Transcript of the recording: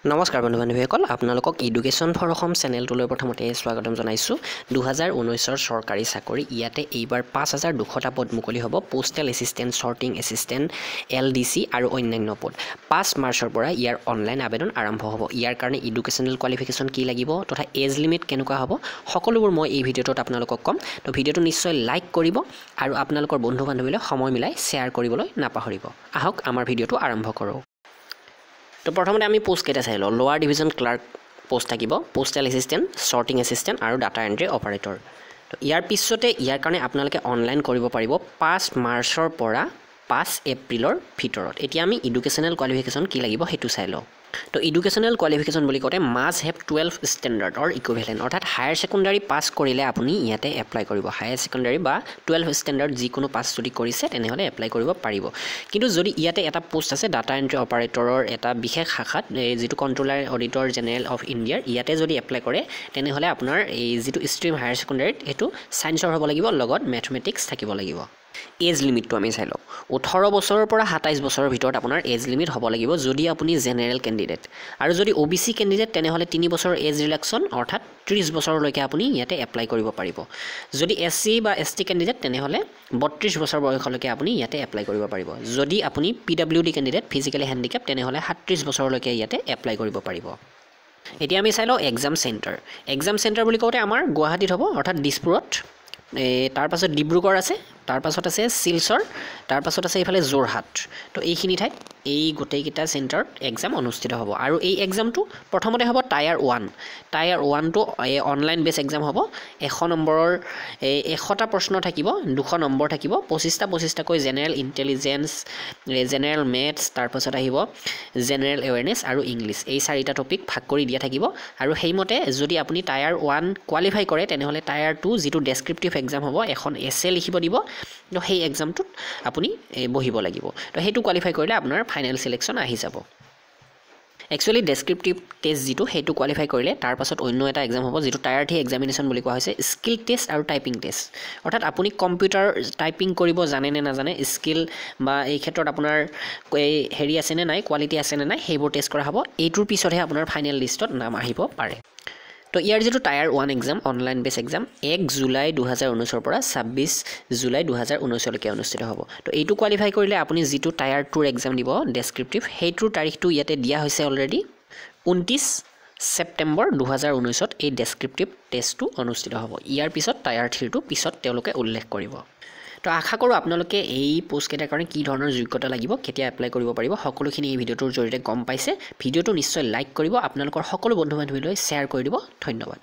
নমস্কাৰ বন্ধু বান্ধৱীসকল, আপোনালোকক এডুকেশ্যন ফৰ অসম চেনেলটোলৈ প্ৰথমতে স্বাগতম জনাইছোঁ। 2019ৰ চৰকাৰী চাকৰি, ইয়াতে এইবাৰ 5200টা পদ মুকলি হ'ব। Postal assistant, sorting assistant, LDC আৰু অন্যান্য পদ। 5 মাৰ্চৰ পৰা ইয়াৰ অনলাইন আবেদন আৰম্ভ হ'ব। ইয়াৰ কাৰণে এডুকেশ্যনেল কোৱালিফিকেশ্যন কি লাগিব তথা এজ লিমিট কেনেকুৱা হ'ব, সকলোবোৰ মই এই ভিডিঅ'টোত আপোনালোকক ক'ম। তো ভিডিঅ'টো নিশ্চয় লাইক কৰিব আৰু আপোনালোকৰ বন্ধু বান্ধৱীলৈ সময় মিলাই শ্বেয়াৰ কৰিবলৈ নাপাহৰিব। আহক আমাৰ ভিডিঅ'টো আৰম্ভ কৰোঁ। তো প্ৰথমতে আমি পোষ্টকেইটা চাই লওঁ। লোৱাৰ ডিভিজন ক্লাৰ্ক পোষ্ট থাকিব, পোষ্টেল এছিষ্টেণ্ট, শ্বৰ্টিং এছিষ্টেণ্ট আৰু ডাটা এণ্ট্ৰি অপাৰেটৰ। তো ইয়াৰ পিছতে ইয়াৰ কাৰণে আপোনালোকে অনলাইন কৰিব পাৰিব 5 মাৰ্চৰ পৰা 5 এপ্ৰিলৰ ভিতৰত। এতিয়া আমি এডুকেশ্যনেল কোৱালিফিকেশ্যন কি লাগিব সেইটো চাই লওঁ। তো এডুকেশ্যনেল কোৱালিফিকেশ্যন বুলি কওঁতে must have 12 standard or equivalent, অৰ্থাৎ হায়াৰ ছেকেণ্ডাৰী পাছ কৰিলে আপুনি ইয়াতে এপ্লাই কৰিব। হায়াৰ ছেকেণ্ডাৰী বা 12 ষ্টেণ্ডাৰ্ড যিকোনো পাছ যদি কৰিছে তেনেহ'লে এপ্লাই কৰিব পাৰিব। কিন্তু যদি ইয়াতে এটা পোষ্ট আছে ডাটা এণ্ট্ৰি অপাৰেটৰৰ এটা বিশেষ শাখাত, এই যিটো কণ্ট্ৰলাৰ অডিটৰ জেনেৰেল অফ ইণ্ডিয়াৰ, ইয়াতে যদি এপ্লাই কৰে তেনেহ'লে আপোনাৰ এই যিটো ষ্ট্ৰীম হায়াৰ ছেকেণ্ডাৰীত সেইটো ছায়েন্সৰ হ'ব লাগিব, লগত মেথমেটিক্স থাকিব লাগিব। এজ লিমিটটো আমি চাই লওঁ। 18 বছৰৰ পৰা 27 বছৰৰ ভিতৰত আপোনাৰ এজ লিমিট হ'ব লাগিব যদি আপুনি জেনেৰেল কেণ্ডিডেট। আৰু যদি অ' বি চি কেণ্ডিডেট তেনেহ'লে 3 বছৰৰ এজ ৰিলেক্সন, অৰ্থাৎ 30 বছৰলৈকে আপুনি ইয়াতে এপ্লাই কৰিব পাৰিব। যদি এছ চি বা এছ টি কেণ্ডিডেট তেনেহ'লে 32 বছৰ বয়সলৈকে আপুনি ইয়াতে এপ্লাই কৰিব পাৰিব। যদি আপুনি PWD candidate, physically handicap, তেনেহ'লে 37 বছৰলৈকে ইয়াতে এপ্লাই কৰিব পাৰিব। এতিয়া আমি চাই লওঁ এক্সাম চেণ্টাৰ। এক্সাম চেণ্টাৰ বুলি কওঁতে আমাৰ গুৱাহাটীত হ'ব, অৰ্থাৎ দিছপুৰত, তাৰপাছত ডিব্ৰুগড় আছে, তাৰপাছত আছে শিলচৰ, তাৰপাছত আছে এইফালে যোৰহাট। তো এইখিনি ঠাইত এই গোটেইকেইটা চেণ্টাৰত এক্সাম অনুষ্ঠিত হ'ব। আৰু এই এক্সামটো প্ৰথমতে হ'ব টায়াৰ 1। টায়াৰ 1টো এই অনলাইন বেছ এক্সাম হ'ব। 100 নম্বৰৰ 100টা প্ৰশ্ন থাকিব, 200 নম্বৰ থাকিব, 25টা 25টাকৈ জেনেৰেল ইণ্টেলিজেঞ্চ, জেনেৰেল মেথছ, তাৰপাছত আহিব জেনেৰেল এৱেৰনেছ আৰু ইংলিছ, এই 4টা টপিক ভাগ কৰি দিয়া থাকিব। আৰু সেইমতে যদি আপুনি টায়াৰ 1 কোৱালিফাই কৰে তেনেহ'লে টায়াৰ 2 যিটো ডেছক্ৰিপটিভ এক্সাম হ'ব, এখন এছে লিখিব দিব, তো সেই এক্সামটোত আপুনি বহিব লাগিব। তো সেইটো কোৱালিফাই কৰিলে আপোনাৰ ফাইনেল চিলেকশ্যন আহি যাব। একচুৱেলি ডেছক্ৰিপটিভ টেষ্ট যিটো সেইটো কোৱালিফাই কৰিলে তাৰপাছত অন্য এটা এক্সাম হ'ব যিটো টায়াৰ 3 এক্সামিনেশ্যন বুলি কোৱা হৈছে, স্কিল টেষ্ট আৰু টাইপিং টেষ্ট। অৰ্থাৎ আপুনি কম্পিউটাৰ টাইপিং কৰিব জানে নে নাজানে, স্কিল বা এই ক্ষেত্ৰত আপোনাৰ এই হেৰি আছেনে নাই, কোৱালিটি আছেনে নাই, সেইবোৰ টেষ্ট কৰা হ'ব। এইটোৰ পিছতহে আপোনাৰ ফাইনেল লিষ্টত নাম আহিব পাৰে। তো ইয়াৰ যিটো tier 1 exam, online base exam, 1 July 2019ৰ পৰা 26 জুলাই 2019লৈকে অনুষ্ঠিত হ'ব। তো এইটো কোৱালিফাই কৰিলে আপুনি যিটো টায়াৰ 2ৰ এক্সাম দিব ডেছক্ৰিপটিভ, সেইটোৰ তাৰিখটো ইয়াতে দিয়া হৈছে অলৰেডি, 29 ছেপ্টেম্বৰ 2019ত এই ডেছক্ৰিপটিভ টেষ্টটো অনুষ্ঠিত হ'ব। ইয়াৰ পিছত টায়াৰ 3টো পিছত তেওঁলোকে উল্লেখ কৰিব। তো আশা কৰোঁ আপোনালোকে এই পোষ্টকেইটাৰ কাৰণে কি ধৰণৰ যোগ্যতা লাগিব, কেতিয়া এপ্লাই কৰিব পাৰিব, সকলোখিনি এই ভিডিঅ'টোৰ জৰিয়তে গম পাইছে। ভিডিঅ'টো নিশ্চয় লাইক কৰিব, আপোনালোকৰ সকলো বন্ধু বান্ধৱীলৈ শ্বেয়াৰ কৰি দিব। ধন্যবাদ।